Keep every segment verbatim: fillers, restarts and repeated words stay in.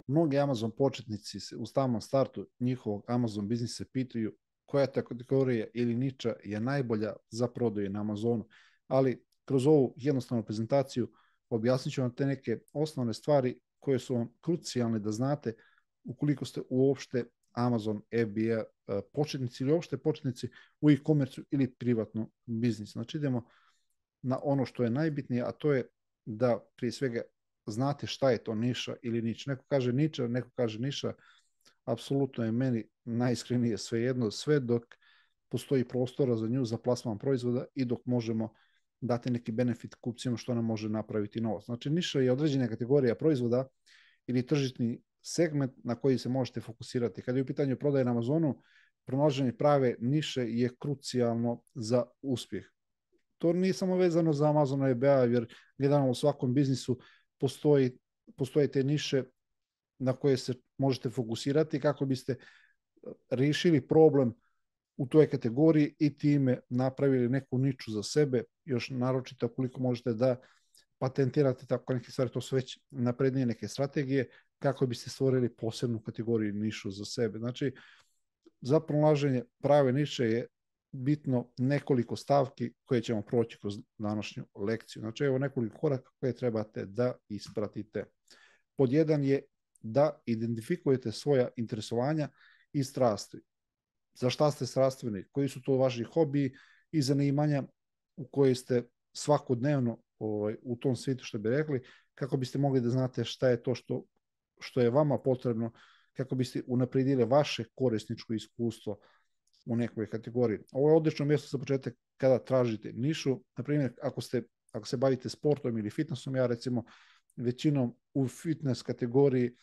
Mnogi Amazon početnici se u samom startu njihovog Amazon biznisa pitaju koja ta kategorija ili niča je najbolja za prodaju na Amazonu, ali kroz ovu jednostavnu prezentaciju objasnit ću vam te neke osnovne stvari koje su vam krucijalne da znate ukoliko ste uopšte Amazon F B A početnici ili uopšte početnici u e-commerce ili privatnom biznisu. Znači idemo na ono što je najbitnije, a to je da prije svega znate šta je to niša ili nič. Neko kaže niča, neko kaže niša, apsolutno je meni najiskrenije svejedno, sve dok postoji prostora za nju, za plasman proizvoda i dok možemo dati neki benefit kupcima što nam može napraviti novac. Znači niša je određena kategorija proizvoda ili tržišni segment na koji se možete fokusirati. Kad je u pitanju prodaje na Amazonu, pronalaženje prave niše je krucijalno za uspjeh. To nije samo vezano za Amazon F B A, jer gledano u svakom biznisu postoji, postoje te niše na koje se možete fokusirati kako biste riješili problem u toj kategoriji i time napravili neku niču za sebe, još naročito koliko možete da patentirate tako neke stvari, to su već naprednije neke strategije kako biste stvorili posebnu kategoriju nišu za sebe. Znači, za pronalaženje prave niše je bitno nekoliko stavki koje ćemo proći kroz današnju lekciju. Znači, evo nekoliko koraka koje trebate da ispratite. Pod jedan je da identifikujete svoja interesovanja i strasti. Za šta ste strastveni, koji su to vaši hobiji i zanimanja u koje ste svakodnevno ovaj, u tom svijetu, što bi rekli, kako biste mogli da znate šta je to što, što je vama potrebno, kako biste unaprijedili vaše korisničko iskustvo u nekoj kategoriji. Ovo je odlično mjesto za početak kada tražite nišu. Na primjer, ako, ste, ako se bavite sportom ili fitnessom, ja recimo većinom u fitness kategoriji,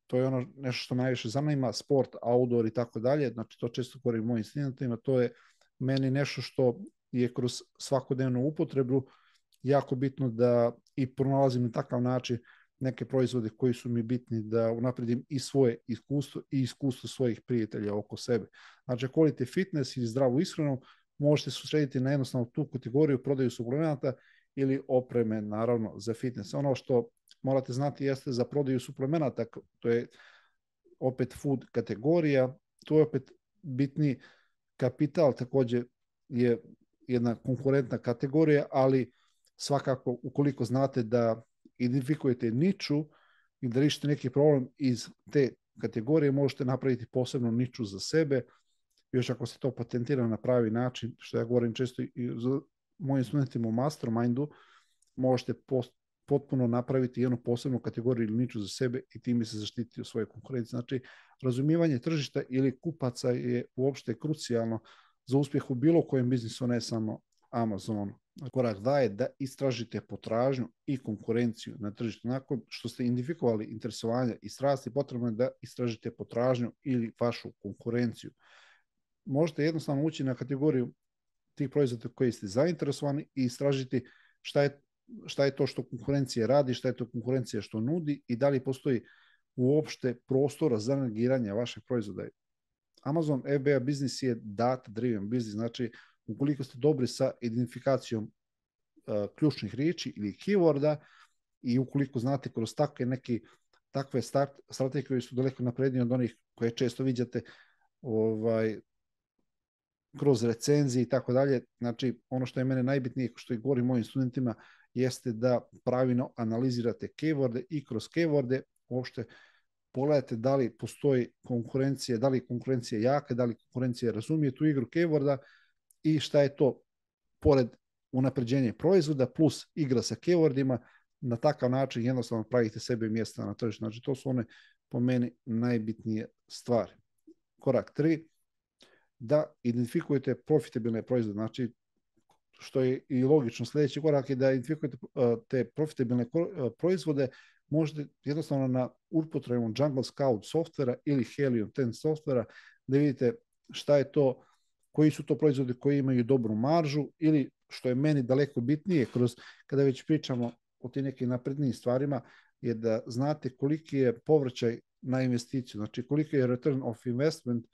to je ono nešto što me najviše zanima, sport, outdoor i tako dalje, znači to često govorim u mojim studentima, to je meni nešto što je kroz svakodnevnu upotrebu jako bitno da i pronalazim na takav način neke proizvode koji su mi bitni da unapredim i svoje iskustvo i iskustvo svojih prijatelja oko sebe. Znači, ako volite fitness ili zdravu ishranu, možete se usrediti na jednostavno tu kategoriju prodaju suplemenata ili opreme, naravno, za fitness. Ono što morate znati jeste za prodaju suplemenata, to je opet food kategorija, tu je opet bitni kapital, također je jedna konkurentna kategorija, ali svakako ukoliko znate da identifikujete niču i da riješite neki problem iz te kategorije, možete napraviti posebnu niču za sebe, još ako se to patentira na pravi način, što ja govorim često i za mojim studentima u mastermindu, možete post, potpuno napraviti jednu posebnu kategoriju ili niču za sebe i time se zaštititi u svojoj konkurenciji. Znači, razumijevanje tržišta ili kupaca je uopšte krucijalno za uspjeh u bilo kojem biznisu, ne samo Amazonu. Korak dva je da istražite potražnju i konkurenciju na tržištu. Nakon što ste identifikovali interesovanja i strasti, potrebno je da istražite potražnju ili vašu konkurenciju. Možete jednostavno ući na kategoriju tih proizvoda koji ste zainteresovani i istražiti šta je, šta je to što konkurencija radi, šta je to konkurencija što nudi i da li postoji uopšte prostora za negiranje vašeg proizvoda. Amazon F B A biznis je data driven biznis, znači ukoliko ste dobri sa identifikacijom uh, ključnih riječi ili keyworda i ukoliko znate kroz takve neki takve start, strategije koje su daleko naprednije od onih koje često viđate ovaj, kroz recenzije i tako dalje, znači ono što je mene najbitnije, što i govorim mojim studentima, jeste da pravilno analizirate keyworde i kroz keyworde uopšte pogledajte da li postoji konkurencija, da li konkurencija jaka, da li konkurencija razumije tu igru keyworda i šta je to pored unapređenja proizvoda plus igra sa keywordima, na takav način jednostavno pravite sebe mjesta na tržištu. Znači to su one po meni najbitnije stvari. Korak tri, da identifikujete profitabilne proizvode, znači što je i logično, sljedeći korak je da identifikujete te profitabilne proizvode, možete jednostavno na upotrebom Jungle Scout softvera ili Helium deset softvera da vidite šta je to, koji su to proizvodi koji imaju dobru maržu ili što je meni daleko bitnije kroz, kada već pričamo o tim nekim naprednijim stvarima, je da znate koliki je povraćaj na investiciju, znači koliki je return of investment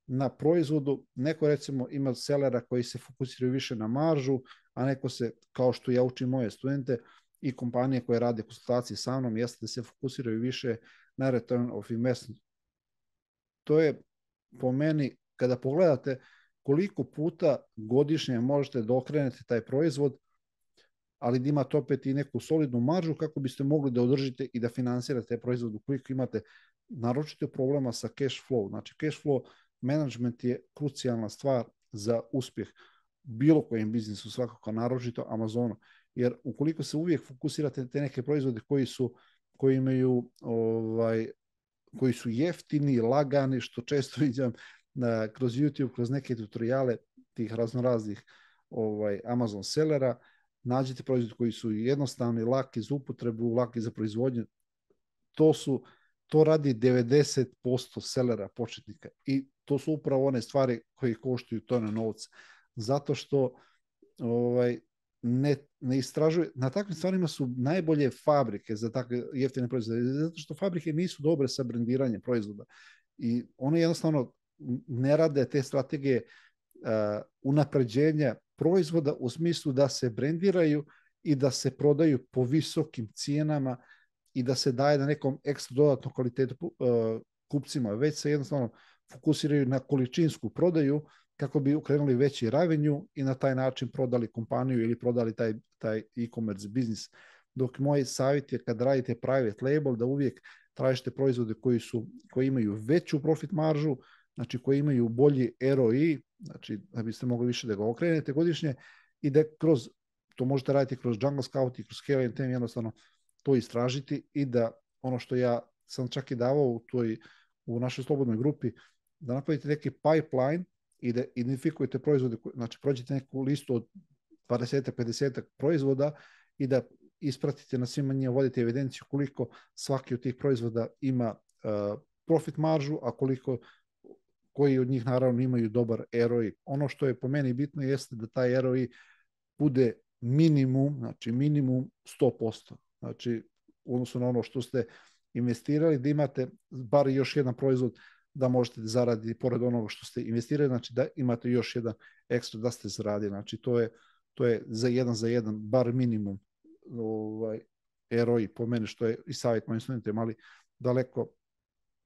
na proizvodu. Neko recimo ima sellera koji se fokusiraju više na maržu, a neko se, kao što ja učim moje studente i kompanije koje rade konsultacije sa mnom, jeste da se fokusiraju više na return of investment. To je po meni, kada pogledate koliko puta godišnje možete da okrenete taj proizvod, ali da imate opet i neku solidnu maržu kako biste mogli da održite i da finansirate taj proizvod ukoliko imate naročito problema sa cash flow. Znači cash flow management je krucijalna stvar za uspjeh bilo kojem biznisu, svakako naročito Amazonu. Jer ukoliko se uvijek fokusirate na te neke proizvode koji su, koji imaju ovaj, koji su jeftini, lagani, što često vidim na, kroz YouTube, kroz neke tutoriale tih raznoraznih ovaj, Amazon sellera, nađete proizvode koji su jednostavni, laki za upotrebu, laki za proizvodnju. To su, to radi devedeset posto sellera početnika i to su upravo one stvari koje koštuju tone novca. Zato što ovaj, ne, ne istražuje, na takvim stvarima su najbolje fabrike za takve jeftine proizvode, zato što fabrike nisu dobre sa brendiranjem proizvoda i one jednostavno ne rade te strategije uh, unapređenja proizvoda u smislu da se brendiraju i da se prodaju po visokim cijenama i da se daje na nekom ekstra dodatnom kvalitetu uh, kupcima, već se jednostavno fokusiraju na količinsku prodaju kako bi ukrenuli veći revenue i na taj način prodali kompaniju ili prodali taj, taj e-commerce biznis. Dok moj savjet je kad radite private label da uvijek tražite proizvode koji, su, koji imaju veću profit maržu, znači koji imaju bolji R O I, znači da biste mogli više da ga okrenete godišnje i da kroz, to možete raditi kroz Jungle Scout i kroz Scale and Tame, jednostavno to istražiti i da ono što ja sam čak i davao u, toj, u našoj slobodnoj grupi, da napravite neki pipeline i da identifikujete proizvode, znači prođete neku listu od dvadeset do pedeset proizvoda i da ispratite na svima njima, vodite evidenciju koliko svaki od tih proizvoda ima uh, profit maržu, a koliko koji od njih naravno imaju dobar R O I. Ono što je po meni bitno jeste da taj R O I bude minimum, znači minimum sto posto. Znači u odnosu na ono što ste investirali, da imate bar još jedan proizvod da možete zaraditi pored onoga što ste investirali, znači da imate još jedan ekstra da ste zaradili. Znači to je, to je za jedan za jedan, bar minimum ovaj, R O I po meni, što je i savjet mojim studentima, ali daleko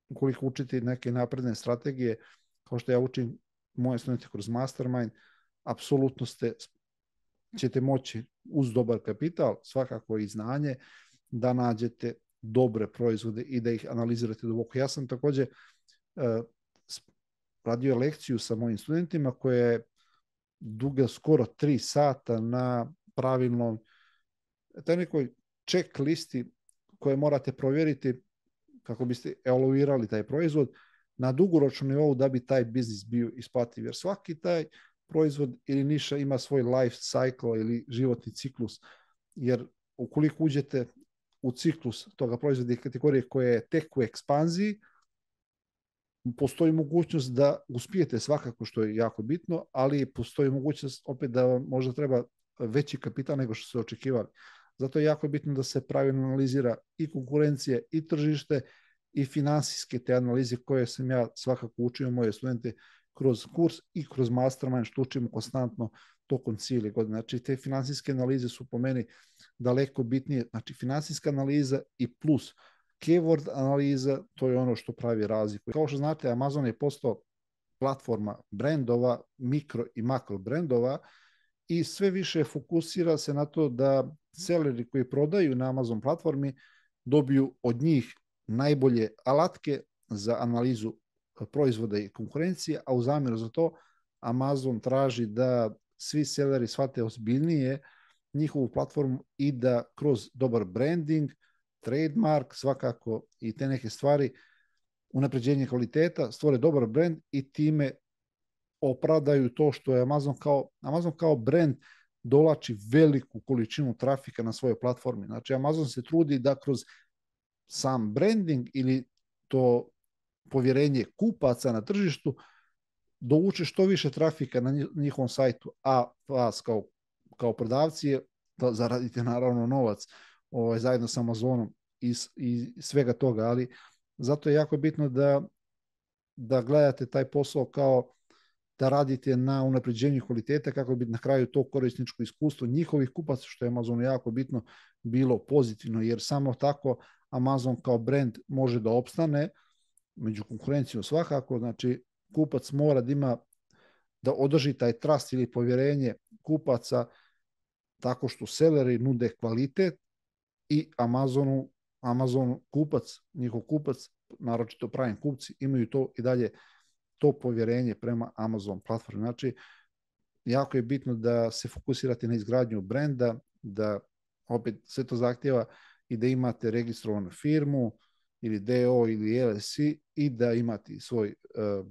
ukoliko učite neke napredne strategije, kao što ja učim moje studente kroz Mastermind, apsolutno ste, ćete moći uz dobar kapital, svakako i znanje, da nađete dobre proizvode i da ih analizirate duboko. Ja sam također uh, radio lekciju sa mojim studentima koja je duga skoro tri sata na pravilnom taj nekoj check listi koje morate provjeriti kako biste evaluirali taj proizvod na dugoročnom nivou da bi taj biznis bio isplativ. Jer svaki taj proizvod ili niša ima svoj life cycle ili životni ciklus. Jer ukoliko uđete u ciklus toga proizvoda i kategorije koja je tek u ekspanziji, postoji mogućnost da uspijete svakako, što je jako bitno, ali postoji mogućnost opet da vam možda treba veći kapital nego što ste očekivali. Zato je jako bitno da se pravilno analizira i konkurencije i tržište i finansijske te analize koje sam ja svakako učio moje studente kroz kurs i kroz Mastermind, što učimo konstantno tokom cijele godine. Znači te finansijske analize su po meni daleko bitnije. Znači finansijska analiza i plus keyword analiza, to je ono što pravi razliku. Kao što znate, Amazon je postao platforma brendova, mikro i makro brendova i sve više fokusira se na to da seleri koji prodaju na Amazon platformi dobiju od njih najbolje alatke za analizu proizvoda i konkurencije, a u zamjeru za to Amazon traži da svi seleri shvate ozbiljnije njihovu platformu i da kroz dobar branding, trademark, svakako i te neke stvari, unapređenje kvaliteta, stvore dobar brand i time opravdaju to što je Amazon kao, Amazon kao brand dolači veliku količinu trafika na svojoj platformi. Znači Amazon se trudi da kroz sam branding ili to povjerenje kupaca na tržištu dovuče što više trafika na njihovom sajtu, a vas kao, kao prodavci da zaradite naravno novac ovaj, zajedno sa Amazonom i, i svega toga, ali zato je jako bitno da, da gledate taj posao kao da radite na unapređenju kvalitete kako bi na kraju to korisničko iskustvo njihovih kupaca, što je Amazonu jako bitno, bilo pozitivno, jer samo tako Amazon kao brand može da opstane među konkurencijom svakako. Znači, kupac mora da ima, da održi taj trust ili povjerenje kupaca tako što seleri nude kvalitet i Amazonu, Amazon kupac, njihov kupac, naročito pravi kupci, imaju to i dalje to povjerenje prema Amazon platformi. Znači, jako je bitno da se fokusirate na izgradnju brenda, da opet sve to zahtjeva i da imate registrovanu firmu ili D O ili L L C i da imate svoj uh,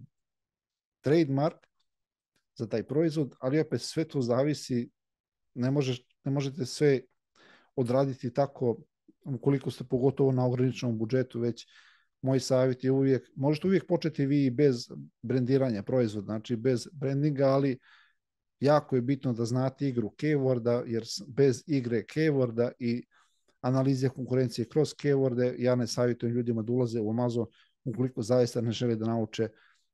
trademark za taj proizvod, ali opet sve to zavisi, ne, možeš, ne možete sve odraditi tako ukoliko ste pogotovo na ograničenom budžetu, već moj savjet je uvijek, možete uvijek početi vi bez brendiranja proizvoda, znači bez brandinga, ali jako je bitno da znate igru keyworda, jer bez igre keyworda i analize konkurencije kroz keyworde, ja ne savjetujem ljudima da ulaze u Amazon ukoliko zaista ne žele da nauče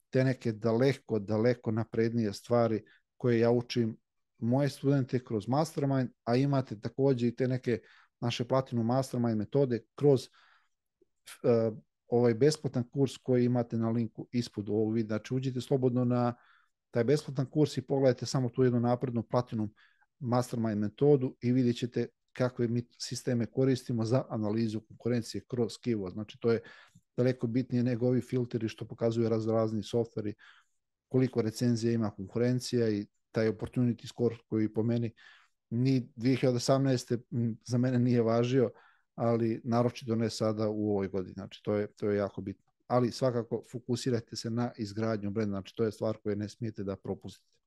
te neke daleko, daleko naprednije stvari koje ja učim moje studente kroz Mastermind, a imate također i te neke naše Platinum Mastermind metode kroz uh, ovaj besplatan kurs koji imate na linku ispod ovog videa. Znači, uđite slobodno na taj besplatan kurs i pogledajte samo tu jednu naprednu Platinum Mastermind metodu i vidjet ćete kakve mi sisteme koristimo za analizu konkurencije kroz keyword. Znači, to je daleko bitnije nego ovi filteri što pokazuju raz, razni softveri, koliko recenzija ima konkurencija i taj opportunity score koji po meni ni dvije hiljade osamnaeste za mene nije važio, ali naročito ne sada u ovoj godini. Znači, to je, to je jako bitno. Ali svakako fokusirajte se na izgradnju brenda, znači to je stvar koju ne smijete da propustite.